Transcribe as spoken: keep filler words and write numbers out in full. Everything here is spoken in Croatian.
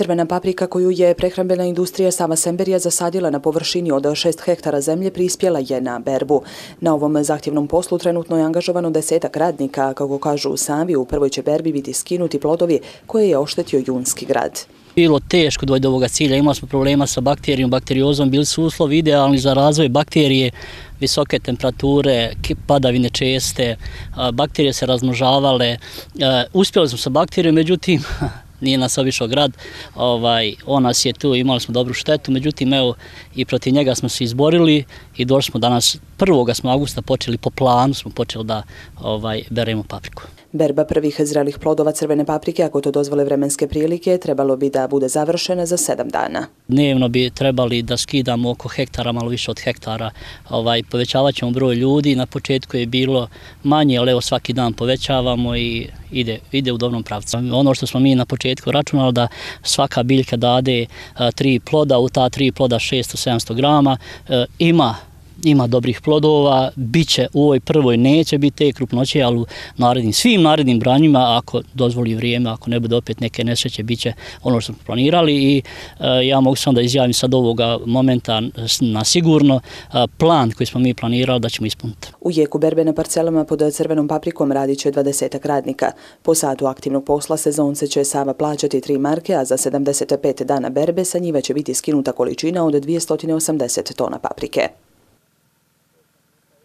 Crvena paprika koju je prehrambena industrija Sava Semberija zasadila na površini od šest hektara zemlje prispjela je na berbu. Na ovom zahtjevnom poslu trenutno je angažovano desetak radnika, kako kažu sami, u prvoj će berbi biti skinuti plodovi koje je oštetio Junski grad. Bilo teško doći do ovoga cilja, imali smo problema sa bakterijom, bakteriozom, bili su uslovi idealni za razvoj bakterije, visoke temperature, padavine česte, bakterije se razmnožavale, uspjeli smo sa bakterijom, međutim, nije nas obišao grad, ovaj, on nas je tu, imali smo dobru štetu, međutim, evo, i protiv njega smo se izborili i došli smo danas, prvog augusta počeli po planu, smo počeli da ovaj, beremo papriku. Berba prvih zrelih plodova crvene paprike, ako to dozvole vremenske prilike, trebalo bi da bude završena za sedam dana. Dnevno bi trebali da skidamo oko hektara, malo više od hektara. Ovaj, povećavat ćemo broj ljudi, na početku je bilo manje, ali evo svaki dan povećavamo i ide, ide u dobrom pravcu. Ono što smo mi na početku računali da svaka biljka dade a, tri ploda, u ta tri ploda šesto do sedamsto grama, a, ima Ima dobrih plodova, bit će u ovoj prvoj, neće biti te krupnoće, ali u narednim, svim narednim branjima, ako dozvoli vrijeme, ako ne bude opet neke nesreće, bit će ono što smo planirali i e, ja mogu sam da izjavim sad ovoga momenta na sigurno e, plan koji smo mi planirali da ćemo ispuniti. U jeku berbe na parcelama pod crvenom paprikom radit će dvadesetak radnika. Po satu aktivnog posla sezonce će Sava plaćati tri marke, a za sedamdeset pet dana berbe sa njive će biti skinuta količina od dvjesto osamdeset tona paprike.